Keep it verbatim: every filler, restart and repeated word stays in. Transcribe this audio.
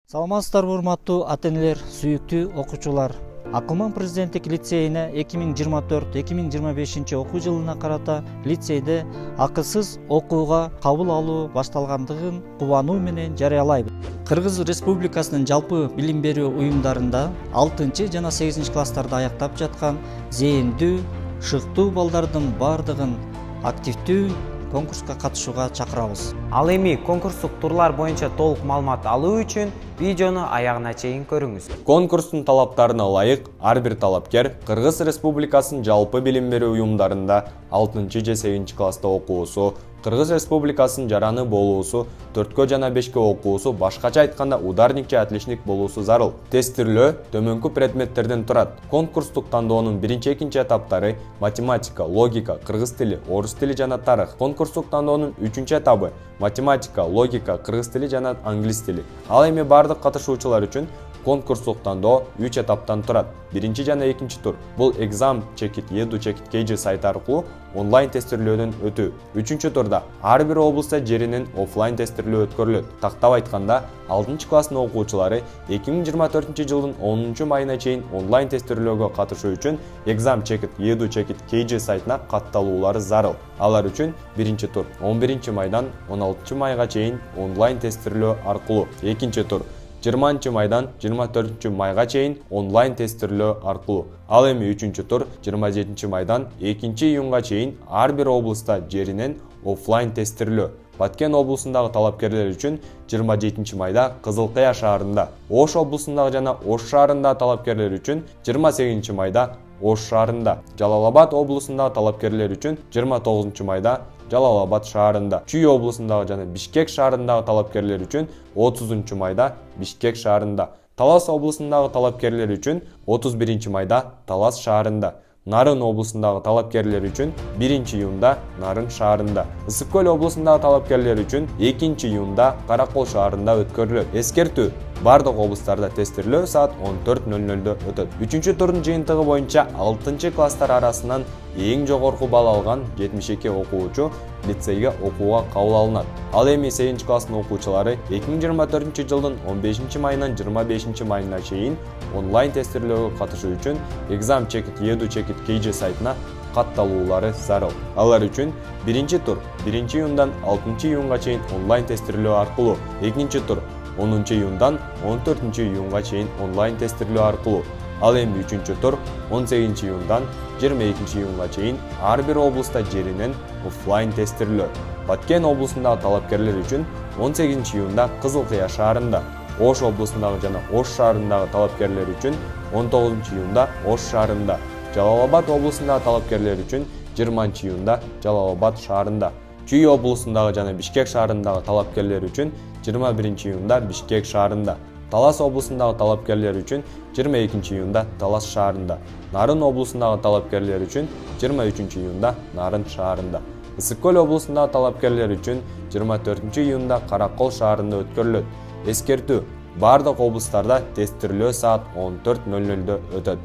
Саламатсыздарбы урматтуу ата-энелер, сүйүктүү окуучулар. Акылман президенттик лицейине эки миң жыйырма төрт эки миң жыйырма бешинчи окуу жылына карата лицейде акысыз окууга кабыл алуу башталгандыгын кубануу менен жарыялайбыз. Кыргыз Республикасынын жалпы билим берүү уюмдарында алтынчы жана сегизинчи класстарда аяктап жаткан зээндүү, шыктуу балдардын бардыгын активдүү конкурска катышууга чакырабыз. Ал эми конкурстук турлар боюнча толук маалымат алуу үчүн видеону аягына чейин көрүңүз. Конкурстун талаптарына ылайык ар бир талапкер Кыргыз Республикасынын жалпы билим берүү уюмдарында алтынчы же сегизинчи класста окуусу, Кыргыз Республикасынын жараны болуусу, төрткө жана бешке окуусу, башкача айтканда ударник же отличник болуусу зарыл. Тестирлөө төмөнкү предметтерден турат. Конкурстук тандоонун биринчи экинчи этаптары математика, логика, кыргыз тили, орус тили жана тарых. Конкурстук тандоонун үчүнчү этабы математика, логика, кыргыз тили жана англис тили. Ал эми бардык катышуучулар үчүн конкурстук тандоо үч этаптан турат. Биринчи жана экинчи тур бул экзам чекит edu чекит kg сайты аркылуу онлайн тестирлөөдөн өтүү. Үчүнчү турда ар бир облустта жеринен офлайн тестирлөө өткөрүлөт. Тактап айтканда, алтынчы класстын окуучулары эки миң жыйырма төртүнчү жылдын онунчу майына чейин онлайн тестирлөөгө катышуу үчүн экзам чекит edu чекит kg сайтына катталуулары зарыл. Алар үчүн биринчи тур он биринчи майдан он алтынчы майга чейин онлайн тестирлөө аркылуу, экинчи тур жыйырманчы майдан жыйырма төртүнчү майга чейин онлайн тестирлөө аркылуу. Ал эми үчүнчү тур жыйырма жетинчи майдан экинчи июнга чейин ар бир облустта жеринен офлайн тестирлөө. Баткен облусундагы талапкерлер үчүн жыйырма жетинчи майда Кызыл Кыя шаарында, Ош облусундагы жана Ош шаарындагы талапкерлер үчүн жыйырма сегизинчи майда Ош шаарында, Жалал Абад облусундагы талапкерлер үчүн жыйырма тогузунчу майда Жалал Абад шаарында, Чүй облусундагы жана Бишкек шаарындагы талапкерлер үчүн отузунчу майда Бишкек шаарында, Талас облусундагы талапкерлер үчүн отуз биринчи майда Талас шаарында, Нарын облусундагы талапкерлер үчүн биринчи июнда Нарын шаарында, Ысык көл облусундагы талапкерлер үчүн экинчи июнда Каракол шаарында өткөрүлөт. Эскертүү: бардык облустарда тестирлөө саат он төрт ноль нолдо өтөт. Үчүнчү турдун жыйынтыгы боюнча алтынчы класстар арасынан эң жогорку балл алган жетимиш эки окуучу лицейге окууга кабыл алынат. Ал эми сегизинчи класстын окуучулары эки миң жыйырма төртүнчү жылдын он бешинчи майынан жыйырма бешинчи майына чейин онлайн тестирлөөгө катышуу үчүн экзам чекит edu чекит kg сайтына катталуулары зарыл. Алар үчүн биринчи тур биринчи июндан алтынчы июнга чейин онлайн тестирлөө аркылуу, экинчи тур онунчу июндан он төртүнчү июнга чейин онлайн тестирлөө аркылуу. Ал эми үчүнчү тур он сегизинчи июндан жыйырма экинчи июнга чейин ар бир облустта жеринен офлайн тестирлөө. Баткен облусундагы талапкерлер үчүн он сегизинчи июнда Кызыл Кыя шаарында, Ош облусундагы жана Ош шаарындагы талапкерлер үчүн он тогузунчу июнда Ош шаарында, Жалал Абад облусундагы талапкерлер үчүн жыйырманчы июнда Жалал Абад шаарында, Чүй облусундагы жана Бишкек шаарындагы талапкерлер үчүн жыйырма биринчи июнда Бишкек шаарында, Талас облусундагы талапкерлер үчүн жыйырма экинчи июнда Талас шаарында, Нарын облусундагы талапкерлер үчүн жыйырма үчүнчү июнда Нарын шаарында, Ысык көл облусундагы талапкерлер үчүн жыйырма төртүнчү июнда Каракол шаарында өткөрүлөт. Эскертүү: бардык облустарда тестирлөө саат он төрт ноль нолдо өтөт.